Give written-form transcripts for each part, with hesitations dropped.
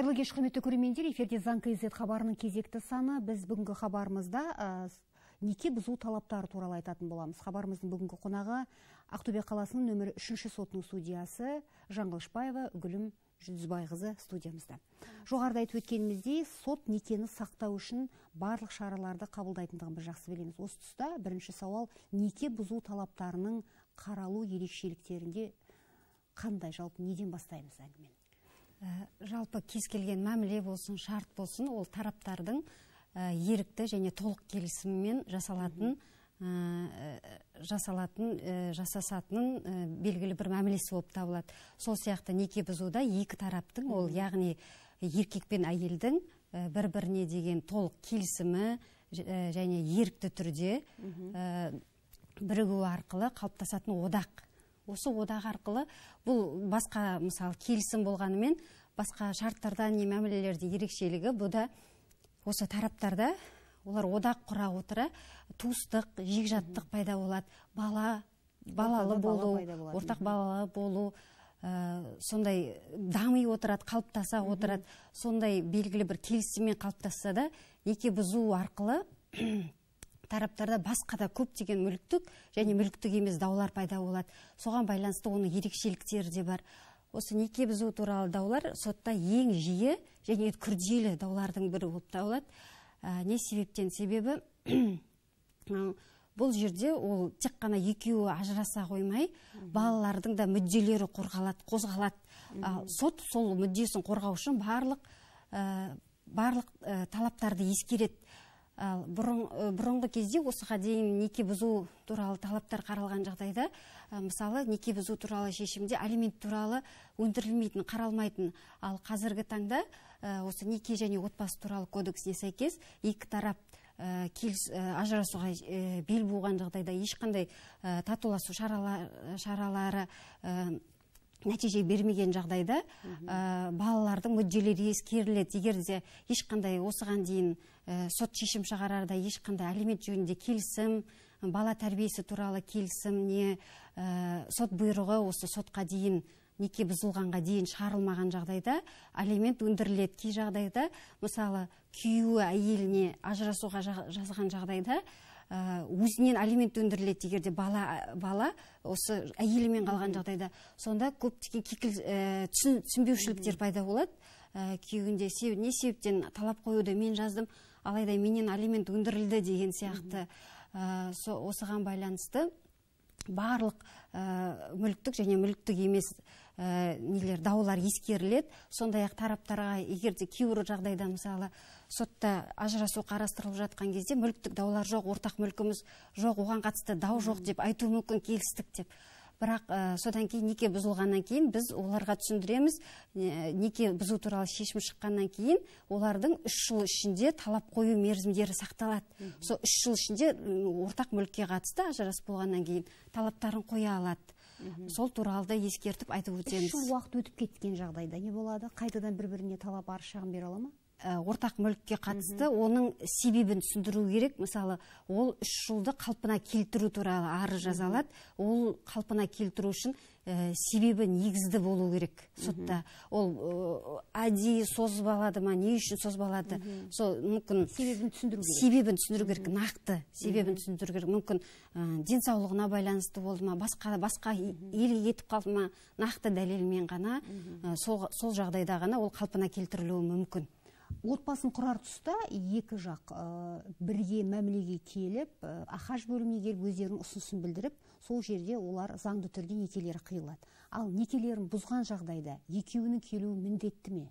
Қайырлы кеш, құрметті көрермендер, эфирде Заң КЗ хабарының кезекті саны. Біз бүгінгі хабарымызда неке бұзу талаптары туралы айтатын боламыз. Хабарымыздың бүгінгі қонағы Ақтөбе қаласының нөмірі 3-ші сотының судьясы Жаңғылышбаева Үгілім Жүдізбайқызы студиямызда. Жоғарыда айтып өткеніміздей, сот некені сақтау үшін барлық шараларды қабылдайтындығын біз жақсы білеміз. Осы тұста бірінші сауал, неке бұзу талаптарының қаралу ерекшеліктерінде қандай, жалпы неден бастаймыз әңгімені? Жалпы кез келген мәміле болсын, шарт болсын, ол тараптардың ерікті және толық келісіммен жасасатынын белгілі бір мәмілесі болып табылады. Сол сияқты неке бұзуда екі тараптың, ол яғни еркек пен әйелдің бір-біріне деген толық келісімі және ерікті түрде бірігу арқылы қалыптасатын одақ. Осы одақ арқылы бұл басқа мысалы келісім болғанымен басқа шарттарда не мәмілелерде ерекшелігі бұда осы тараптарда олар одақ құра отыра туыстық, жекжаттық пайда болады, балалы болу, ортақ балалы болу, сондай дами отырады, қалыптаса отырады, сондай белгілі бір келісіммен қалыптасса да неке бұзу арқылы тараптарда басқа да көптеген мүліктік және мүліктік емес даулар пайда болады. Соған байланысты оның ерекшеліктері де бар. Осы неке бұзу туралы даулар сотта ең жиі және күрделі даулардың бірі болып табылады. Не себептен? Себебі бұл жерде ол тек қана екеуі ажыраса қоймай, балалардың да мүдделері қозғалады. Сот сол мүддесін қорғау үшін барлық талаптарды ескереді. Бұрынғы кезде осыға дейін неке бұзу туралы талаптар қаралған жағдайда, мысалы неке бұзу туралы шешімде алимент туралы өндірілмейтін, қаралмайтын. Ал қазіргі таңда осы неке және отбасы туралы кодексіне сәйкес екі тарап ажырасуға бел буған жағдайда ешқандай татуласу шаралары нәтиже бермеген жағдайда балалардың мүдделері ескеріледі. Егер де ешқандай осыған дейін сот шешім шығарарда ешқандай алимент жөнінде келісім, бала тәрбиесі туралы келісім, не сот бұйрығы осы сотқа дейін неке бұзылғанға дейін шығарылмаған жағдайда алимент өндіріледі. Кей жағдайда, мысалы, күйеуі әйеліне ажырасуға жазған жағдайда өзінен алимент өндіріледі, егерде бала осы әйелімен қалған жағдайда. Сонда көптеген түсінбеушіліктер пайда болады. Күйеуінде не себептен талап қоюды мен жаздым, алайда менен алимент өндірілді деген сияқты. Осыған байланысты барлық мүліктік және мүліктік емес даулар ескеріледі. Сондай-ақ тараптарға егерде кейбір жағдайда мысалы сотта ажырасу қарастырылып жатқан кезде мүліктік даулар жоқ, ортақ мүлкіміз жоқ, оған қатысты дау жоқ деп айту мүмкін, келістік деп. Бірақ содан кейін неке бұзылғаннан кейін біз оларға түсіндіреміз, неке бұзу туралы шешім шыққаннан кейін олардың 3 жыл ішінде талап қою мерзімдері сақталады. Сол 3 жыл ішінде ортақ мүлікке қатысты ажырасып болғаннан кейін талаптарын қоя алады. Сол туралы да ескертіп айтып өтеміз. 3 жыл уақыт өтіп кеткен жағдайда не болады? Қайтадан бір-біріне талап арыз шағым бере ала ма? Ортақ мүлікке қатысты оның себебін түсіндіру керек. Мысалы, ол 3 жылды қалпына келтіру туралы арыз жазалады. Ол қалпына келтіру үшін себебі негізді болу керек сотта. Ол әдейі созбалады ма, не үшін созбалады? Сол мүмкін себебін түсіндіру керек, нақты себебін түсіндіру керек. Мүмкін денсаулығына байланысты болды ма, басқа елге кетіп қалды ма, нақты дәлелмен ғана сол жағдайда ғана ол қалпына келтірілуі мүмкін. Отбасын құрар тұста екі жақ бірге мәмілеге келіп, ахаж бөліміне келіп өздерінің ұсынысын білдіріп, сол жерде олар заңды түрде некелері қиылады. Ал некелерін бұзған жағдайда екеуінің келуі міндетті ме?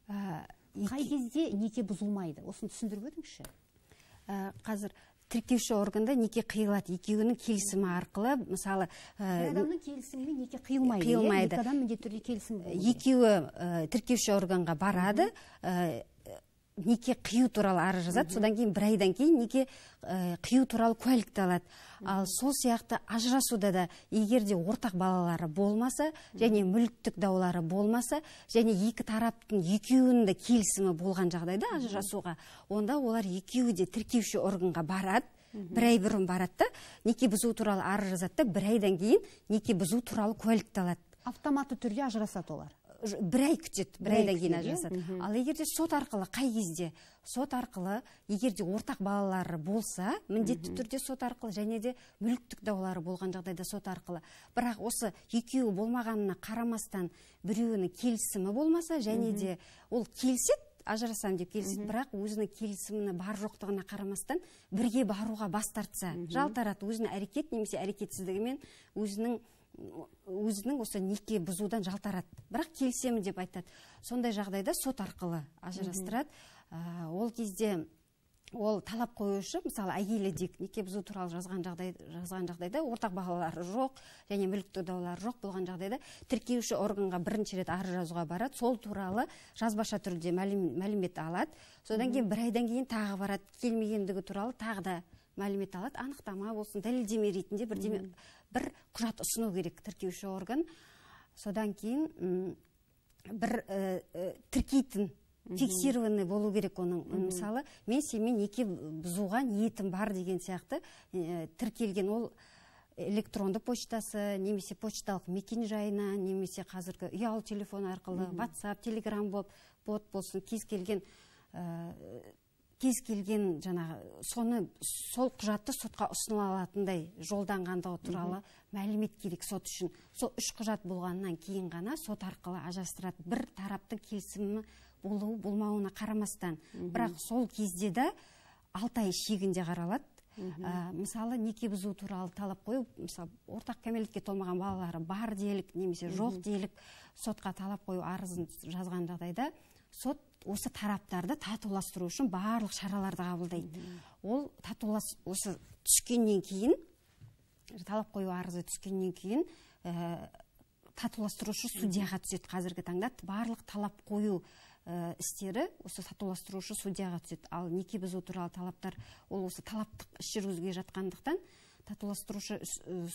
Қай кезде неке бұзылмайды? Осыны түсіндіріп өтіңізші. Қазір тіркеуші органда неке қиылады, екеуінің келісімі арқылы, мысалы, адамның келісімімен неке қиылмайды. Екі адам міндетті түрде келісім болу. Екеуі тіркеуші органға барады, неке қию туралы арыз жазады, содан кейін бір айдан кейін неке қию туралы куәлікті алады. Ал сол сияқты ажырасуда да егерде ортақ балалары болмаса және мүліктік даулары болмаса және екі тараптың екеуінің де келісімі болған жағдайда ажырасуға, онда олар екеуі де тіркеуші органға барады, бір ай бұрын барады да неке бұзу туралы арыз жазады да бір айдан кейін неке бұзу туралы куәлікті алады. Автоматты түрде ажырасады олар. бір ай күтеді, бір айдан кейін ажырасады. Ал егерде сот арқылы, қай кезде? Сот арқылы, егерде ортақ балалары болса, міндетті түрде сот арқылы, және де мүліктік даулары болған жағдайда сот арқылы. Бірақ осы екеуі болмағанына қарамастан біреуінің келісімі болмаса, және де ол келіседі, ажырасам деп келіседі, бірақ өзінің келісіміне бар жоқтығына қарамастан бірге баруға бас тартса, жалтарады, өзінің әрекет немесе әрекетсіздігімен өзінің осы неке бұзудан жалтарады, бірақ келісемін деп айтады. Сондай жағдайда сот арқылы ажырастырады. Ол кезде ол талап қоюшы, мысалы әйелі де неке бұзу туралы жазған жағдайда ортақ балалары жоқ және мүліктік даулары жоқ болған жағдайда тіркеуші органға бірінші рет арыз жазуға барады, сол туралы жазбаша түрде мәлімет алады. Содан кейін бір айдан кейін тағы барады, келмегендігі туралы тағы да мәлімет алады, анықтама болсын, дәлелдеме ретінде бір құжат ұсыну керек тіркеуші орган. Содан кейін бір тіркейтін фиксированный болу керек оның. Мысалы, мен сенімен неке бұзуға ниетім бар деген сияқты тіркелген, ол электронды почтасы, немесе почталық мекен жайына, немесе қазіргі ұялы телефон арқылы, WhatsApp, Telegram бот болсын, кез келген сол құжатты сотқа ұсыныла алатындай жолданғандығы туралы мәлімет керек сот үшін. Сол үш құжат болғаннан кейін ғана сот арқылы ажырастырады, бір тараптың келісімі болуы болмауына қарамастан. Бірақ сол кезде де 6 ай шегінде қаралады. Мысалы, неке бұзу туралы талап қою, мысалы, ортақ кәмелетке толмаған балалары бар делік, немесе жоқ делік сотқа талап қою арызын жазған жағдайда, сот осы тараптарды татуластыру үшін барлық шараларды қабылдайды. Ол осы түскеннен кейін, талап қою арызы түскеннен кейін, татуластырушы судьяға түседі. Қазіргі таңда барлық талап қою істері осы татуластырушы судьяға түседі. Ал неке бұзу туралы талаптар, ол осы талаптық іс жүргізуге жатқандықтан татуластырушы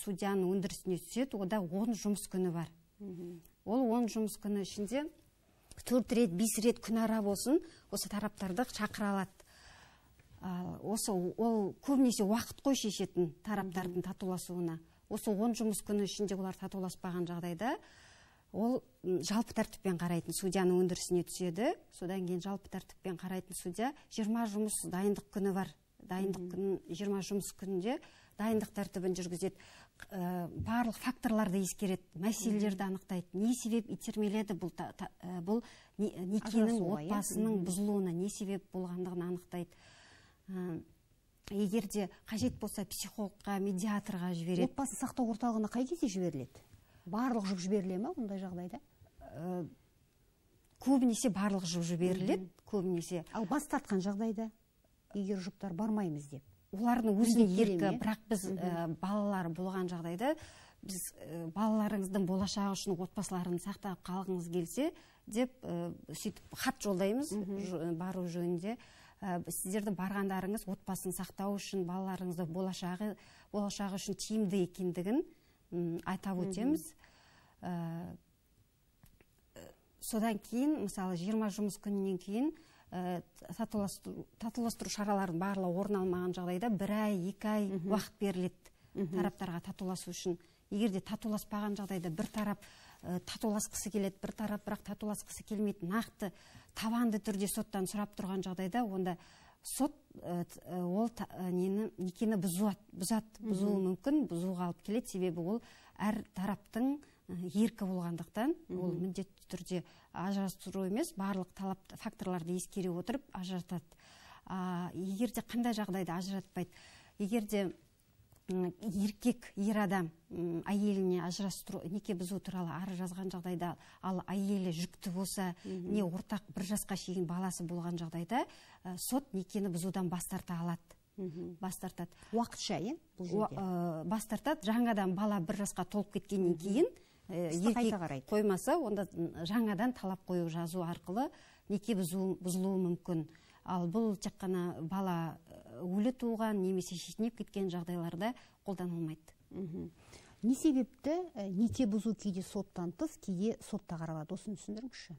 судьяның өндірісіне түседі. Ода 10 жұмыс күні бар. Ол 10 жұмыс күні ішінде 4 рет, 5 рет күн ара болсын, осы тараптарды шақыра алады. Ол көбінесе уақыт қой шешетін тараптардың татуласуына. Осы 10 жұмыс күні ішінде олар татуласпаған жағдайда, ол жалпы тәртіппен қарайтын судьяның өндірісіне түседі. Содан кейін жалпы тәртіппен қарайтын судья 20 жұмыс дайындық күні бар. Дайындық күні 20 жұмыс күнінде дайындық тәртібін жүргізеді. Барлық факторларды ескереді, мәселелерді анықтайды. Не себеп итермеледі бұл некенің отбасының бұзылуына не себеп болғандығын анықтайды. Егерде қажет болса психологқа, медиаторға жібереді. Отбасы сақтау орталығына қай кезде жіберіледі? Барлық жүк жіберіле ме ондай жағдайда? Көбінесе барлық жүк жіберіледі, көбінесе. Ал бас тартқан жағдайда, егер жұптар бармаймыз деп? Олардың өзіне еркі, бірақ біз балалары болған жағдайда, біз балаларыңыздың болашағы үшін отбасыларын сақтап қалғыңыз келсе, деп хат жолдаймыз бару жөнінде. Сіздердің барғандарыңыз отбасын сақтау үшін, балаларыңыздың болашағы үшін тиімді екендігін айтап өтеміз. Содан кейін, мысалы, 20 жұмыс күнінен кейін татуластыру шараларын барлығы орын алмаған жағдайда 1 ай, 2 ай уақыт беріледі тараптарға татуласу үшін. Егерде татуласпаған жағдайда бір тарап татуласқысы келеді, бір тарап бірақ татуласқысы келмейді, нақты таванды түрде соттан сұрап тұрған жағдайда, онда сот ол некені бұзуы мүмкін, бұзуға алып келеді, себебі ол әр тараптың еркі болғандықтан, ол міндетті түрде ажырастыру емес, барлық талап факторларды ескере отырып ажыратады. Егерде қандай жағдайда ажыратпайды? Егерде еркек, ер адам әйеліне ажырастыру, неке бұзу туралы арыз жазған жағдайда, ал әйелі жүкті болса, не ортақ 1 жасқа шейін баласы болған жағдайда, сот некені бұзудан бас тарта алады. Бас тартады. Уақытша, бұл жерде? Бас тартады. Жаңадан бала 1 жасқа толып кеткеннен кейін, еркек қоймаса, онда жаңадан талап қою жазу арқылы неке бұзылуы мүмкін. Ал бұл тек қана бала өлі туған, немесе шетінеп кеткен жағдайларда қолданылмайды. Не себепті неке бұзу кейде соттан тыс, кейде сотта қаралады? Осыны түсіндіріңізші.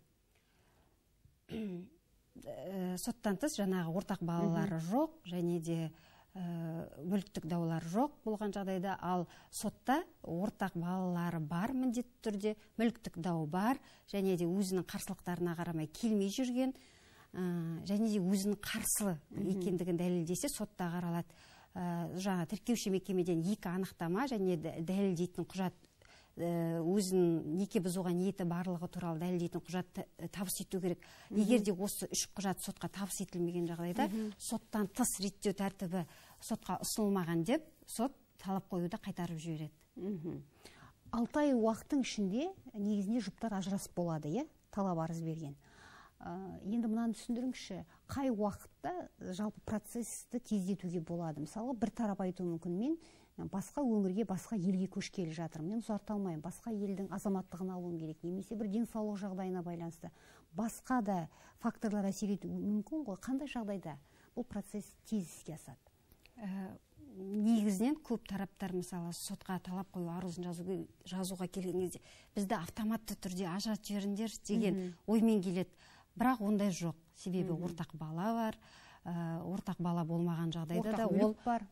Соттан тыс жаңағы ортақ балалары жоқ, және де мүліктік даулар жоқ болған жағдайда, ал сотта ортақ балалары бар міндетті түрде, мүліктік дау бар, және де өзінің қарсылықтарына қарамай келмей жүрген, және де өзінің қарсы екендігін дәлелдесе сотта қаралады. Жаңа тіркеуші мекемеден 2 анықтама және дәлелдейтін құжат, өзінің неке бұзуға ниеті барлығы туралы дәлелдейтін құжат табыс ету керек. Егер де осы 3 құжат сотқа табыс етілмеген жағдайда, соттан тыс реттеу тәртібі сотқа ұсынылмаған деп, сот талап қоюды қайтарып жібереді. 6 ай уақыттың ішінде негізінде жұптар ажырасып болады, талап арыз берген. Енді мынаны түсіндіріңізші, қай уақытта жалпы процессті тездетуге болады? Мысалы, бір тарап айтуы мүмкін, мен басқа өңірге, басқа елге көшкелі жатырмын, мен ұзарта алмаймын, басқа елдің азаматтығын алуым керек, немесе бір денсаулық жағдайына байланысты басқа да факторлар әсер етуі мүмкін ғой. Қандай жағдайда бұл процесс тез іске асады? Негізінен көп тараптар мысалы сотқа талап қою арызын жазуға келген кезде бізді автоматты түрде ажыратып жіберіңдер деген оймен келеді. Бірақ ондай жоқ. Себебі ортақ бала бар. Ортақ бала болмаған жағдайда да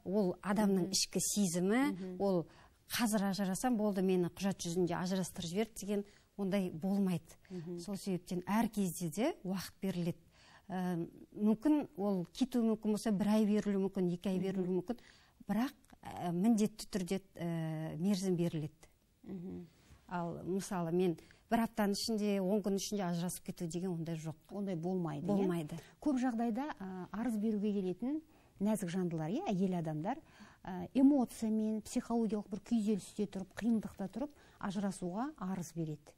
ол адамның ішкі сезімі, ол қазір ажырасам болды, мені құжат жүзінде ажырастырып жіберді деген ондай болмайды. Сол себептен әр кезде де уақыт беріледі. Мүмкін ол кетуі мүмкін болса, 1 ай берілуі мүмкін, 2 ай берілуі мүмкін, бірақ міндетті түрде мерзім беріледі. Ал мысалы мен 1 аптаның ішінде, 10 күн ішінде ажырасып кету деген ондай жоқ. Ондай болмайды. Болмайды. Көп жағдайда арыз беруге келетін нәзік жандылар, әйел адамдар эмоциямен, психологиялық бір күйзелісте тұрып, қиындықта тұрып, ажырасуға арыз береді.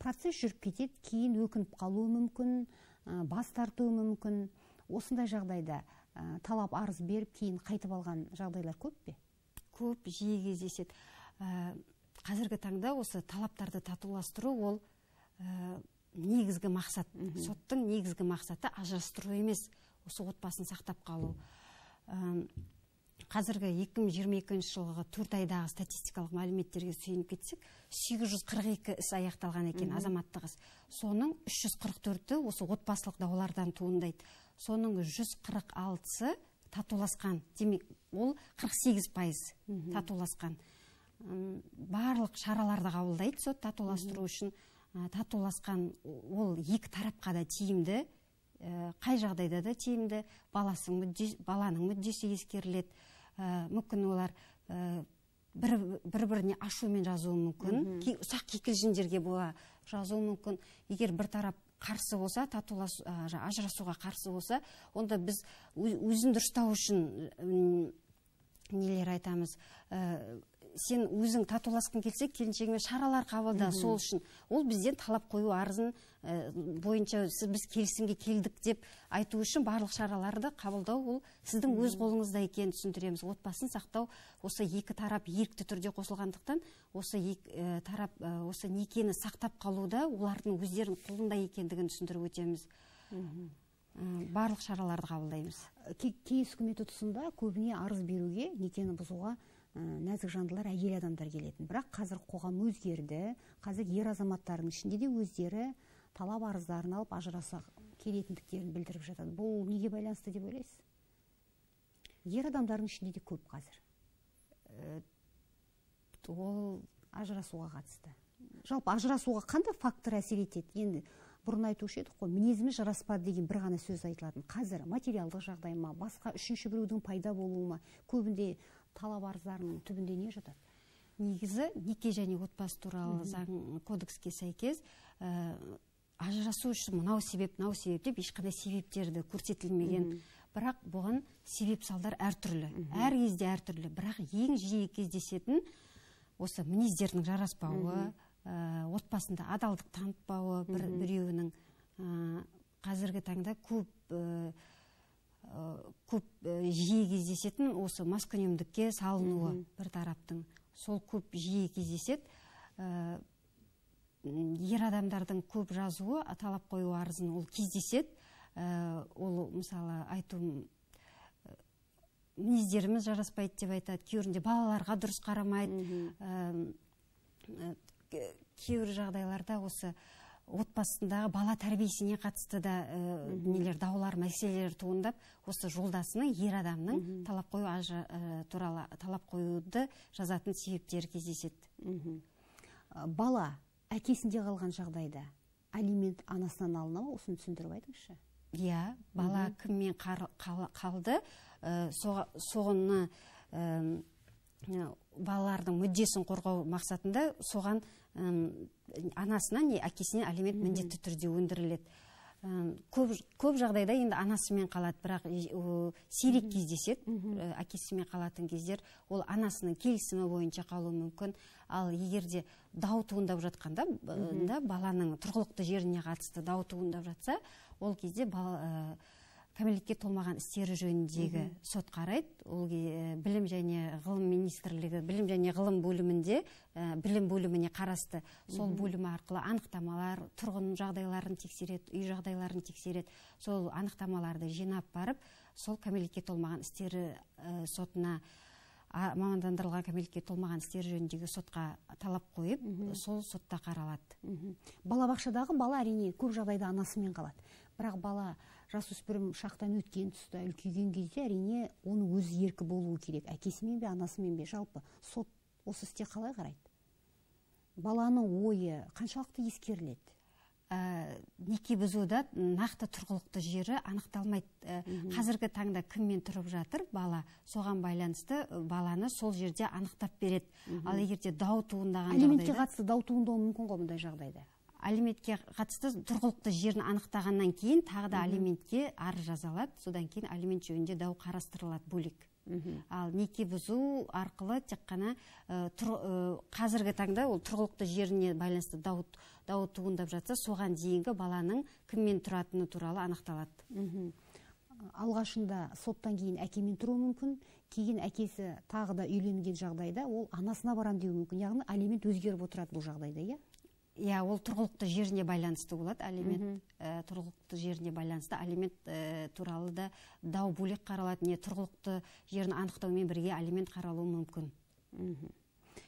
Процесс жүріп кетеді, кейін өкініп қалуы мүмкін, бас тартуы мүмкін. Осындай жағдайда талап арыз беріп, кейін қайтып алған жағдайлар көп пе? Көп, жиі кездеседі. Қазіргі таңда осы талаптарды татуластыру ол негізгі мақсат. Соттың негізгі мақсаты ажырастыру емес, осы отбасын сақтап қалу. Қазіргі 2022 жылғы 4 айдағы статистикалық мәліметтерге сүйеніп кетсек, 842 іс аяқталған екен, азаматтық іс. Соның 344-і осы отбасылық даулардан туындайды. Соның 146-сы татуласқан. Демек, ол 48% татуласқан. Барлық шараларды қабылдайды сот татуластыру үшін. Татуласқан ол 2 тарапқа да тиімді, қай жағдайда да тиімді, баланың мүддесі ескеріледі. Мүмкін олар бір-біріне ашумен жазуы мүмкін, ұсақ кикілжіңдерге бола жазуы мүмкін. Егер бір тарап қарсы болса, ажырасуға қарсы болса, онда біз өзін дұрыстау үшін нелер айтамыз, сен өзің татуласқың келсе, келіншегімен шаралар қабылда, сол үшін. Ол бізден талап қою арызын бойынша біз келісімге келдік деп айту үшін барлық шараларды қабылдау, ол сіздің өз қолыңызда екенін түсіндіреміз. Отбасын сақтау, осы 2 тарап ерікті түрде қосылғандықтан, осы 2 тарап осы некені сақтап қалуда олардың өздерінің қолында екендігін түсіндіріп өтеміз. Барлық шараларды қабылдаймыз. Кеңес үкіметі тұсында көбіне арыз беруге, некені бұзуға нәзік жандылар, әйел адамдар келетін. Бірақ қазір қоғам өзгерді. Қазір ер азаматтардың ішінде де өздері талап арыздарын алып ажыраса келетіндіктерін білдіріп жатады. Бұл неге байланысты деп ойлайсыз? Ер адамдардың ішінде де көп қазір. Ол ажырасуға қатысты. Жалпы ажырасуға қандай фактор әсер етеді? Енді бұрын айтушы едік қой, мінезіміз жараспады деген бір ғана сөз айтылатын. Қазір материалдық жағдай ма, басқа үшінші біреудің пайда болуы ма, көбінде талап арыздарының түбінде не жатады? Негізі неке және отбасы туралы заң кодекске сәйкес ажырасу үшін мынау себеп деп ешқандай себептерді көрсетілмеген. Бірақ бұған себеп салдар әртүрлі. Әр кезде әртүрлі. Бірақ ең жиі кездесетін осы мінездердің жараспауы, отбасында адалдық танытпауы біреуінің қазіргі таңда көп жиі кездесетін осы маскүнемдікке салынуы бір тараптың. Сол көп жиі кездеседі. Ер адамдардың көп жазуы, талап қою арызын ол кездеседі. Ол мысалы айтуым мінездеріміз жараспайды деп айтады. Кейбірінде балаларға дұрыс қарамайды. Кейбір жағдайларда осы отбасындағы бала тәрбиесіне қатысты да нелер, даулар, мәселелер туындап, осы жолдасының, ер адамның талап қою туралы талап қоюды жазатын себептері кездеседі. Бала әкесінде қалған жағдайда алимент анасынан алына ма? Осыны түсіндіріп айтыңызшы. Иә, бала кіммен қалды, соғыны балалардың мүддесін қорғау мақсатында соған анасына не әкесіне алимент міндетті түрде өндіріледі. Көп жағдайда енді анасымен қалады, бірақ сирек кездеседі. Әкесімен қалатын кездер ол анасының келісімі бойынша қалуы мүмкін. Ал егерде дау туындап жатқанда, баланың тұрғылықты жеріне қатысты дау туындап жатса, ол кезде кәмелетке толмаған істері жөніндегі сот қарайды. Ол білім және ғылым министрлігі, білім және ғылым бөлімінде, білім бөліміне қарасты. Сол бөлімі арқылы анықтамалар, тұрғын жағдайларын тексереді, үй жағдайларын тексереді. Сол анықтамаларды жинап барып, сол кәмелетке толмаған істері сотына, мамандандырылған кәмелетке толмаған істері жөніндегі сотқа талап қойып, сол сотта қаралады. Балабақшадағы бала әрине көп жағдайда анасымен қалады. Бірақ бала жасөспірім шақтан өткен тұста, үлкейген кезде әрине оның өз еркі болуы керек. Әкесімен бе, анасымен бе, жалпы сот осы істе қалай қарайды? Баланың ойы қаншалықты ескеріледі? Неке бұзуда нақты тұрғылықты жері анықталмайды. Қазіргі таңда кіммен тұрып жатыр бала, соған байланысты баланы сол жерде анықтап береді. Ал егерде дау туындаған жағдайда, алиментке қатысты дау туындауы мүмкін ғой мұндай жағдайда? Алиментке қатысты тұрғылықты жерін анықтағаннан кейін тағы да алиментке арыз жазалады. Содан кейін алимент жөнінде дау қарастырылады бөлек. Ал неке бұзу арқылы тек қана қазіргі таңда ол тұрғылықты жеріне байланысты дау туындап жатса, соған дейінгі баланың кіммен тұратыны туралы анықталады. Алғашында соттан кейін әкемен тұруы мүмкін, кейін әкесі тағы да үйленген жағдайда ол анасына барам деуі мүмкін. Яғни алимент өзгеріп отырады бұл жағдайда, иә? Иә, ол тұрғылықты жеріне байланысты болады. Алимент тұрғылықты жеріне байланысты. Алимент туралы да дау бөлек қаралады. Не тұрғылықты жерін анықтаумен бірге алимент қаралуы мүмкін.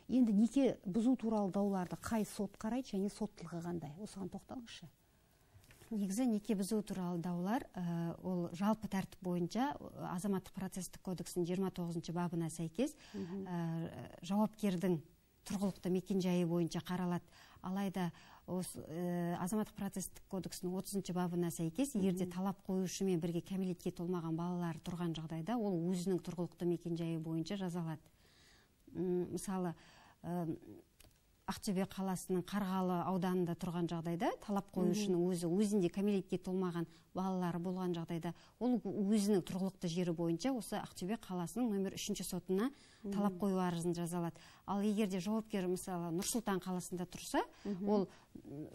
Енді неке бұзу туралы дауларды қай сот қарайды және соттылығы қандай? Осыған тоқталыңызшы. Негізі неке бұзу туралы даулар ол жалпы тәртіп бойынша азаматтық процестік кодексінің 29 бабына сәйкес жауапкердің тұрғылықты мекенжайы бойынша қаралады. Алайда азаматтық процестік кодексінің 30 бабына сәйкес, егерде талап қоюшымен бірге кәмелетке толмаған балалар тұрған жағдайда, ол өзінің тұрғылықты мекенжайы бойынша жазалады. Мысалы, Ақтөбе қаласының Қарғалы ауданында тұрған жағдайда, талап қоюшының өзінде кәмелетке толмаған балалары болған жағдайда, ол өзінің тұрғылықты жері бойынша осы Ақтөбе қаласының номер 3 сотына талап қою арызын жазалады. Ал егерде жауапкер мысалы Нұр-Сұлтан қаласында тұрса, ол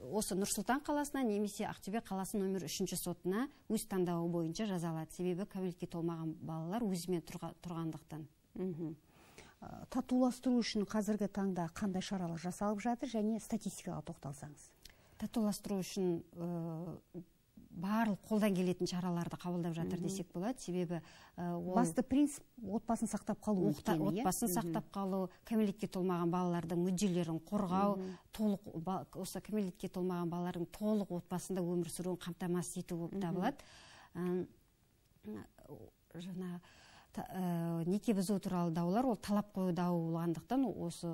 осы Нұр-Сұлтан қаласына немесе Ақтөбе қаласы номер 3 сотына өз таңдауы бойынша жазалады. Себебі кәмелетке толмаған балалар өзімен тұрғандықтан. Татуластыру үшін қазіргі таңда қандай шаралар жасалып жатыр және статистикаға тоқталсаңыз? Татуластыру үшін барлық қолдан келетін шараларды қабылдап жатыр десек болады. Себебі басты принцип отбасын сақтап қалу. Отбасын сақтап қалу, кәмелетке толмаған балалардың мүдделерін қорғау, осы кәмелетке толмаған балалардың толық отбасында өмір сүруін қамтамасыз ету болып табылады. Неке бұзу туралы даулар ол талап қою дауы болғандықтан осы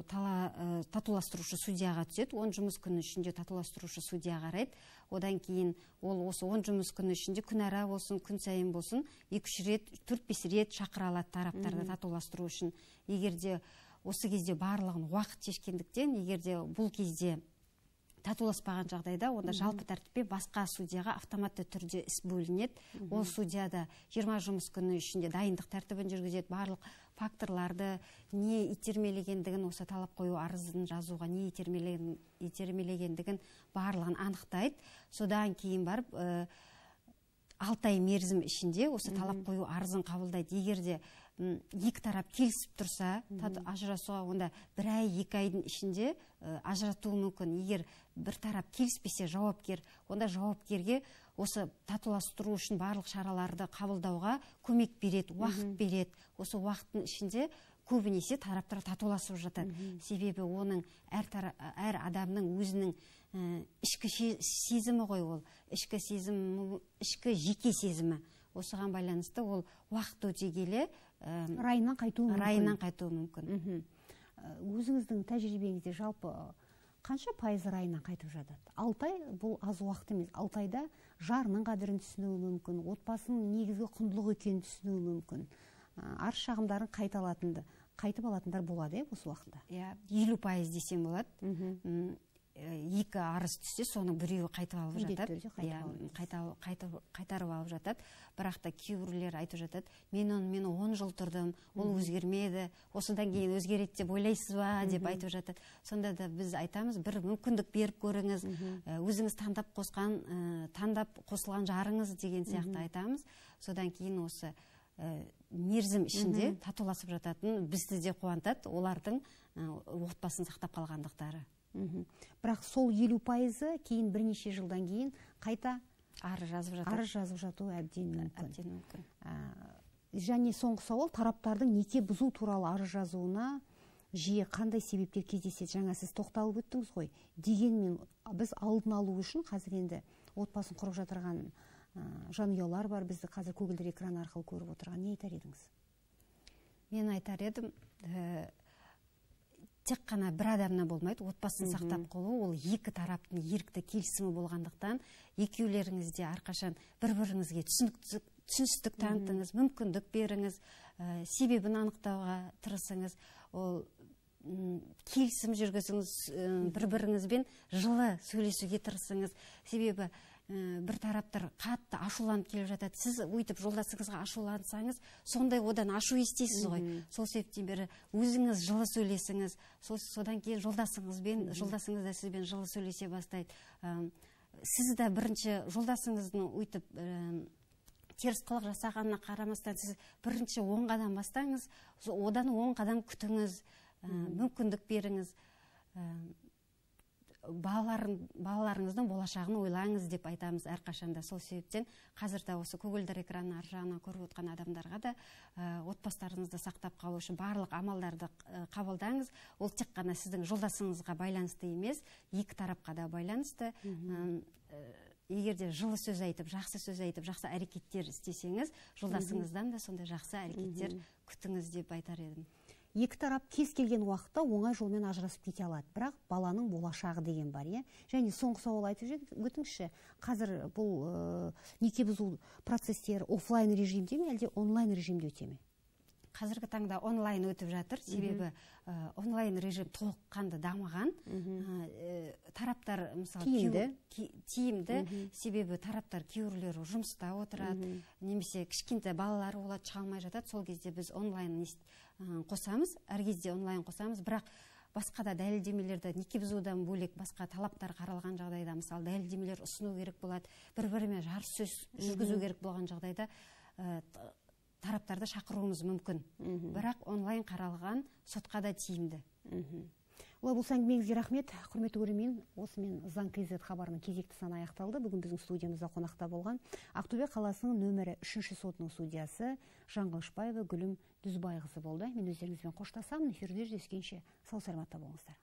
татуластырушы судьяға түседі. 10 жұмыс күні ішінде татуластырушы судья қарайды. Одан кейін ол осы 10 жұмыс күні ішінде күнара болсын, күн сайын болсын, 2-3 рет, 4-5 рет шақыра алады тараптарды татуластыру үшін. Егерде осы кезде барлығын уақыт шешкендіктен, егерде бұл кезде татуласпаған жағдайда, онда жалпы тәртіппен басқа судьяға автоматты түрде іс бөлінеді. Ол судьяда 20 жұмыс күні ішінде дайындық тәртібін жүргізеді, барлық факторларды не итермелегендігін, осы талап қою арызын жазуға не итермелегендігін барлығын анықтайды. Содан кейін барып 6 ай мерзім ішінде осы талап қою арызын қабылдайды. Егерде екі тарап келісіп тұрса, ажырасуға онда 1 ай 2 айдың ішінде ажыратуы мүмкін. Егер бір тарап келіспесе жауапкер, онда жауапкерге осы татуластыру үшін барлық шараларды қабылдауға көмек береді, уақыт береді. Осы уақыттың ішінде көбінесе тараптар татуласып жатады. Себебі оның әр адамның өзінің ішкі сезімі ғой ол. Ішкі сезім, ішкі жеке сезімі. Осыған байланысты ол уақыт өте келе райынан қайтуы мүмкін. Өзіңіздің тәжірибеңізде жалпы қанша пайыз райынан қайтып жатады? 6 ай бұл аз уақыт емес. 6 айда жарының қадірін түсінуі мүмкін, отбасының негізгі құндылық екенін түсінуі мүмкін. Арыз шағымдарын қайтып алатындар болады осы уақытта. 50% десем болады. 2 арыз түссе, соның біреуі қайтып алып жатады. Қайтарып алып жатады. Бірақ та кейбіреулер айтып жатады, мен 10 жыл тұрдым, ол өзгермеді, осыдан кейін өзгереді деп ойлайсыз ба деп айтып жатады. Сонда да біз айтамыз, бір мүмкіндік беріп көріңіз, өзіңіз таңдап қосылған жарыңыз деген сияқты айтамыз. Содан кейін осы мерзім ішінде татуласып жататын бізді де қуантады, олардың отбасын сақтап қалғандықтары. Бірақ сол 50% кейін бірнеше жылдан кейін қайта арыз жазып жатуы әбден мүмкін. Және соңғы сауал, тараптардың неке бұзу туралы арыз жазуына жиі қандай себептер кездеседі? Жаңа сіз тоқталып өттіңіз ғой. Дегенмен біз алдын алу үшін қазір енді отбасын құрып жатырған жанұялар бар, бізді қазір көгілдір экран арқылы көріп отырған. Не айтар едіңіз? Мен айтар едім, тек қана бір адамна болмайды, отбасын сақтап қалу, ол екі тараптың ерікті келісімі болғандықтан, екеулеріңізде әрқашан бір-біріңізге түсіністік танытыңыз, мүмкіндік беріңіз, себебін анықтауға тырысыңыз, ол келісім жүргізіңіз, бір-біріңізбен жылы сөйлесуге тырысыңыз. Себебі бір тараптар қатты ашуланып келіп жатады. Сіз өйтіп жолдасыңызға ашулансаңыз, сондай одан ашу естейсіз ғой. Сол себептен бері өзіңіз жылы сөйлесіңіз. Содан кейін жолдасыңыз да сізбен жылы сөйлесе бастайды. Сіз де бірінші жолдасыңыздың өйтіп теріс қылық жасағанына қарамастан, сіз бірінші 10 қадам бастаңыз, одан 10 қадам күтіңіз, мүмкіндік беріңіз. Балаларыңыздың болашағын ойлаңыз деп айтамыз әрқашанда. Сол себептен қазірде осы көгілдір экранның ар жағынан көріп отқан адамдарға да отбасыларыңызды сақтап қалу үшін барлық амалдарды қабылдаңыз. Ол тек қана сіздің жолдасыңызға байланысты емес, екі тарапқа да байланысты. Егер де жылы сөз айтып, жақсы әрекеттер істесеңіз, жолдасыңыздан да сондай жақсы әрекеттер күтіңіз деп айтар едім. Екі тарап кез келген уақытта оңай жолмен ажырасып кете алады. Бірақ баланың болашағы деген бар, е? Және соңғы сауал айтып өтіңізші, қазір бұл неке бұзу процестері офлайн режимде ме, әлде онлайн режимде өте ме? Қазіргі таңда онлайн өтіп жатыр, себебі онлайн режим толыққанды дамыған. Тараптар тиімді, себебі тараптар кейбіреулері жұмыста отырады, немесе кішкентай балалары болады, шыға алмай жатады. Сол кезде біз онлайн қосамыз, әр кезде онлайн қосамыз, бірақ басқа да дәлелдемелерді, неке бұзудан бөлек басқа талаптар қаралған жағдайда, мысалы дәлелдемелер ұсыну керек болады, бір-бірімен жарыссөз жүргізу керек болған жағдайда тараптарды шақыруымыз мүмкін. Бірақ онлайн қаралған сотқа да тиімді. Олай болса, әңгімеңізге рахмет. Құрметті көрермен, осымен Заң КЗ хабарының кезекті саны аяқталды. Бүгін біздің студиямызда қонақта болған Ақтөбе қаласының нөмірі 3-ші сотының судьясы Жаңғылышбаева Гүлім Дүзбайқызы болды. Мен өздеріңізбен қоштасамын. Эфирде жүздескенше сау саламатта болыңыздар.